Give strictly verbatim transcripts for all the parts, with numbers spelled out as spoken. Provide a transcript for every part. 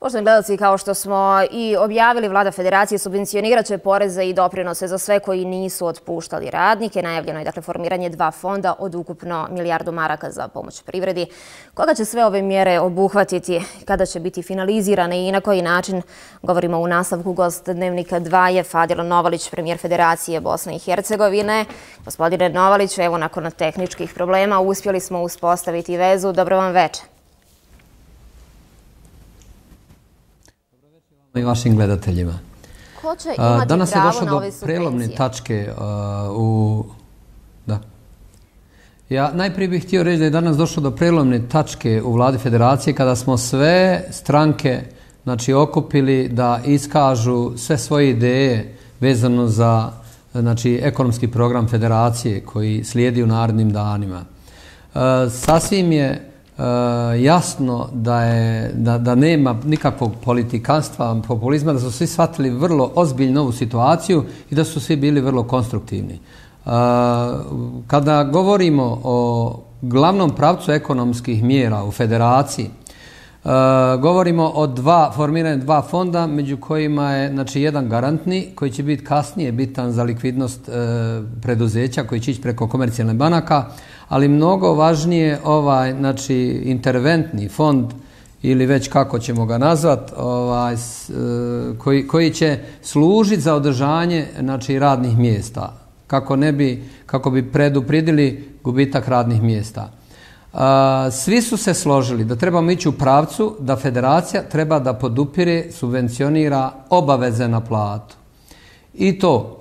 Poštovani gledalci, kao što smo i objavili, Vlada Federacije subvencionirat će poreze i doprinose za sve koji nisu otpuštali radnike. Najavljeno je dakle formiranje dva fonda od ukupno milijardu maraka za pomoć privredi. Koga će sve ove mjere obuhvatiti, kada će biti finalizirane i na koji način, govorimo u nastavku. Gost Dnevnika dva je Fadil Novalić, premijer Federacije Bosne i Hercegovine. Gospodine Novalić, evo nakon tehničkih problema uspjeli smo uspostaviti vezu. Dobro vam večer. I vašim gledateljima. Ko će imati Danas je pravo došlo na do ove subvencije? prelomne tačke u... Da. Ja najprije bih htio reći da je danas došlo do prelomne tačke u Vladi Federacije kada smo sve stranke znači, okupili da iskažu sve svoje ideje vezano za znači, ekonomski program Federacije koji slijedi u narednim danima. Sasvim je jasno da, je, da, da nema nikakvog politikanstva, populizma, da su svi shvatili vrlo ozbiljnu ovu situaciju i da su svi bili vrlo konstruktivni. Kada govorimo o glavnom pravcu ekonomskih mjera u Federaciji, govorimo o dva, formiranju dva fonda, među kojima je znači, jedan garantni koji će biti kasnije bitan za likvidnost preduzeća koji će ići preko komercijalnih banaka, ali mnogo važnije ovaj znači interventni fond ili već kako ćemo ga nazvati, ovaj koji koji će služiti za održanje znači radnih mjesta kako ne bi kako bi predupredili gubitak radnih mjesta. Svi su se složili da trebamo ići u pravcu da Federacija treba da podupire, subvencionira obaveze na platu. I to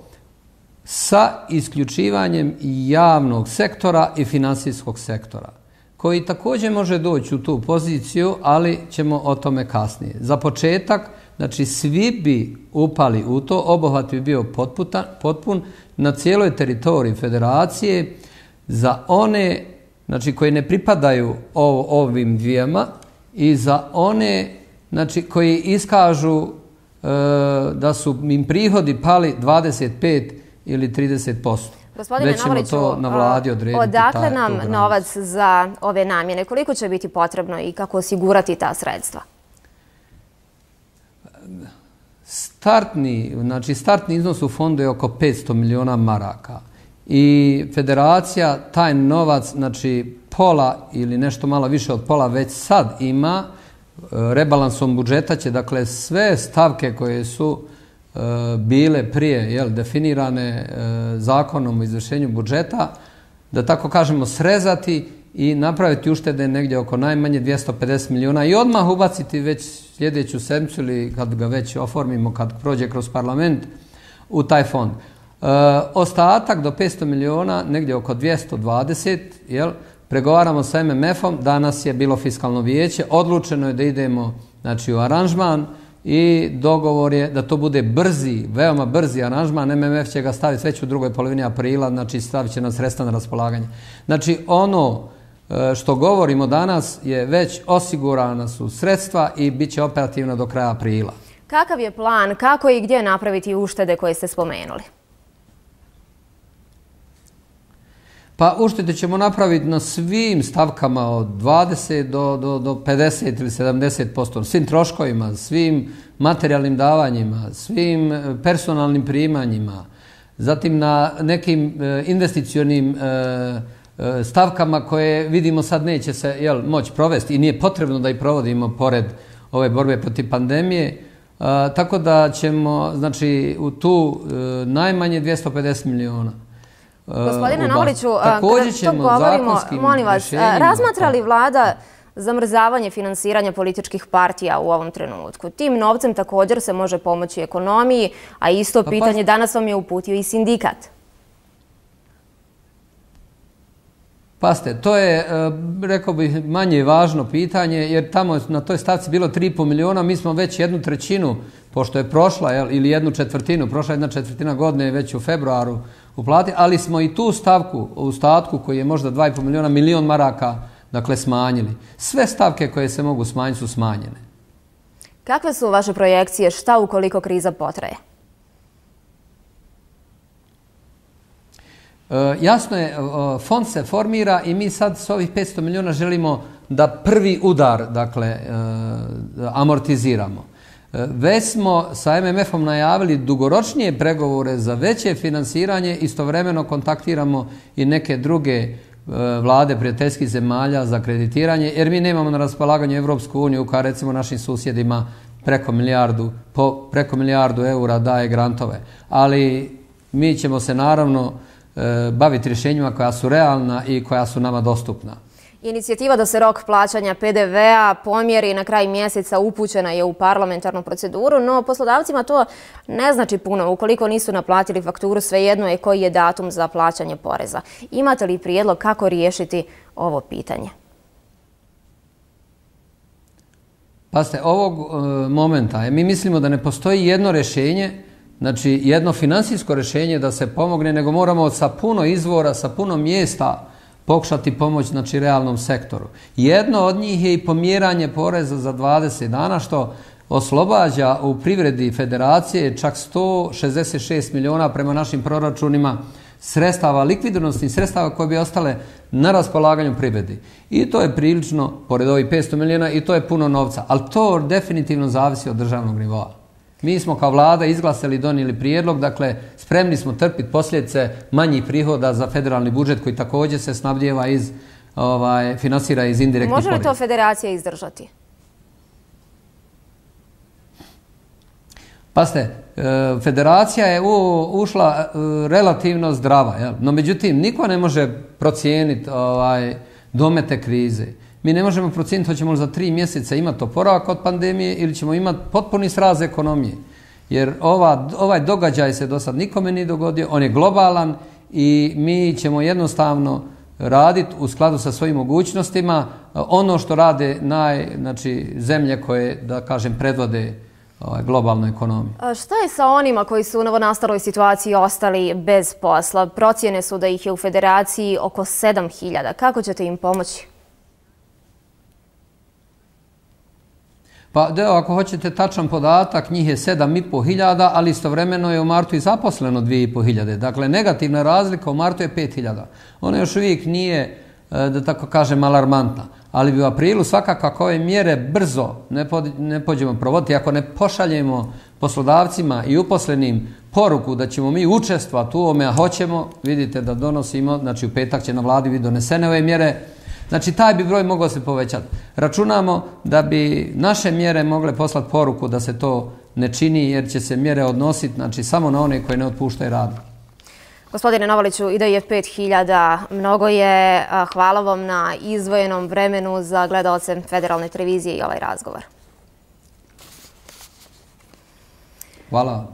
sa isključivanjem javnog sektora i finansijskog sektora, koji također može doći u tu poziciju, ali ćemo o tome kasnije. Za početak, znači svi bi upali u to, obuhvat bi bio potputan, potpun na cijeloj teritoriji Federacije za one znači, koji ne pripadaju ovim dvijema i za one znači, koji iskažu e, da su im prihodi pali dvadeset pet ili trideset posto. Gospodine Novaliću, odakle nam novac za ove namjene? Koliko će biti potrebno i kako osigurati ta sredstva? Startni, znači startni iznos u fondu je oko petsto miliona maraka. I Federacija taj novac, znači pola ili nešto malo više od pola već sad ima. Rebalansom budžeta će dakle sve stavke koje su e, bile prije jel, definirane e, zakonom o izvršenju budžeta, da tako kažemo srezati i napraviti uštede negdje oko najmanje dvjesto pedeset miliona i odmah ubaciti već sljedeću sedmicu ili kad ga već oformimo, kad prođe kroz parlament u taj fond. E, ostatak do petsto miliona, negdje oko dvjesto dvadeset, jel, pregovaramo sa M M F-om, danas je bilo fiskalno vijeće, odlučeno je da idemo znači, u aranžman i dogovor je da to bude brzi, veoma brzi aranžman. M M F će ga staviti već u drugoj polovini aprila, znači stavit će nam sredstva na raspolaganje. Znači ono što govorimo danas je već osigurana su sredstva i bit će operativno do kraja aprila. Kakav je plan, kako i gdje napraviti uštede koje ste spomenuli? Pa uštede ćemo napraviti na svim stavkama od dvadeset do, do, do pedeset ili sedamdeset posto, svim troškovima, svim materijalnim davanjima, svim personalnim primanjima, zatim na nekim investicionim stavkama koje vidimo sad neće se jel, moći provesti i nije potrebno da ih provodimo pored ove borbe protiv pandemije, tako da ćemo znači, u tu najmanje dvjesto pedeset miliona. Gospodine Novaliću, kada to govorimo, molim vas, razmatra li vlada zamrzavanje finansiranja političkih partija u ovom trenutku? Tim novcem također se može pomoći ekonomiji, a isto pitanje danas vam je uputio i sindikat. Paste, to je, rekao bih, manje važno pitanje, jer tamo na toj stavci bilo tri i pol miliona, mi smo već jednu trećinu, pošto je prošla, jel, ili jednu četvrtinu, prošla jedna četvrtina godine već u februaru uplatili, ali smo i tu stavku u statku koji je možda dva i pol miliona, milion maraka, dakle, smanjili. Sve stavke koje se mogu smanjiti su smanjene. Kakve su vaše projekcije, šta ukoliko kriza potraje? Jasno je, fond se formira i mi sad s ovih petsto milijuna želimo da prvi udar, dakle, amortiziramo. Već smo sa M M F-om najavili dugoročnije pregovore za veće finansiranje, istovremeno kontaktiramo i neke druge vlade prijateljskih zemalja za kreditiranje, jer mi nemamo na raspolaganju Evropsku uniju koja recimo našim susjedima preko milijardu, po, preko milijardu eura daje grantove. Ali mi ćemo se naravno e, baviti rješenjima koja su realna i koja su nama dostupna. Inicijativa da se rok plaćanja P D V-a pomjeri na kraj mjeseca upućena je u parlamentarnu proceduru, no poslodavcima to ne znači puno. Ukoliko nisu naplatili fakturu, svejedno je koji je datum za plaćanje poreza. Imate li prijedlog kako riješiti ovo pitanje? Pazite, ovog e, momenta mi mislimo da ne postoji jedno rješenje, znači jedno financijsko rješenje da se pomogne, nego moramo sa puno izvora, sa puno mjesta pokušati pomoć, znači, realnom sektoru. Jedno od njih je i pomjeranje poreza za dvadeset dana, što oslobađa u privredi federacije čak sto šezdeset šest milijuna prema našim proračunima sredstava, likvidnosnih sredstava koje bi ostale na raspolaganju privredi. I to je prilično, pored ovih petsto milijuna, i to je puno novca. Ali to definitivno zavisi od državnog nivoa. Mi smo kao vlada izglasali i donijeli prijedlog, dakle spremni smo trpiti posljedice manjih prihoda za federalni budžet koji također se snabdijeva iz, ovaj, finansira iz indirektnih poreza. Može li to federacija izdržati? Pazite, federacija je ušla relativno zdrava, jel? No međutim niko ne može procijeniti ovaj, domete krize. Mi ne možemo procijeniti hoćemo li za tri mjeseca imati oporavak od pandemije ili ćemo imati potpuni sraz ekonomije. Jer ova, ovaj događaj se do sad nikome nije dogodio, on je globalan i mi ćemo jednostavno raditi u skladu sa svojim mogućnostima ono što rade naj, znači, zemlje koje, da kažem, predvode ovaj, globalnu ekonomiju. A šta je sa onima koji su u novonastaloj situaciji ostali bez posla? Procjene su da ih je u federaciji oko sedam hiljada. Kako ćete im pomoći? Pa da, ako hoćete tačan podatak, njih je sedam i pol hiljada, ali istovremeno je u martu i zaposleno dvije i pol hiljade. Dakle, negativna razlika u martu je pet hiljada. Ona još uvijek nije, da tako kažem, alarmantna. Ali bi u aprilu svakako ako ove mjere brzo ne, pod, ne pođemo provoditi, ako ne pošaljemo poslodavcima i uposlenim poruku da ćemo mi učestvati u ovome, a hoćemo, vidite da donosimo, znači u petak će na vladi biti donesene ove mjere, znači taj bi broj mogao se povećati. Računamo da bi naše mjere mogle poslati poruku da se to ne čini jer će se mjere odnositi, znači, samo na one koje ne otpuštaju rad. Gospodine Novaliću, i da je pet hiljada mnogo je. Hvala vam na izdvojenom vremenu za gledaoce Federalne televizije i ovaj razgovor. Hvala.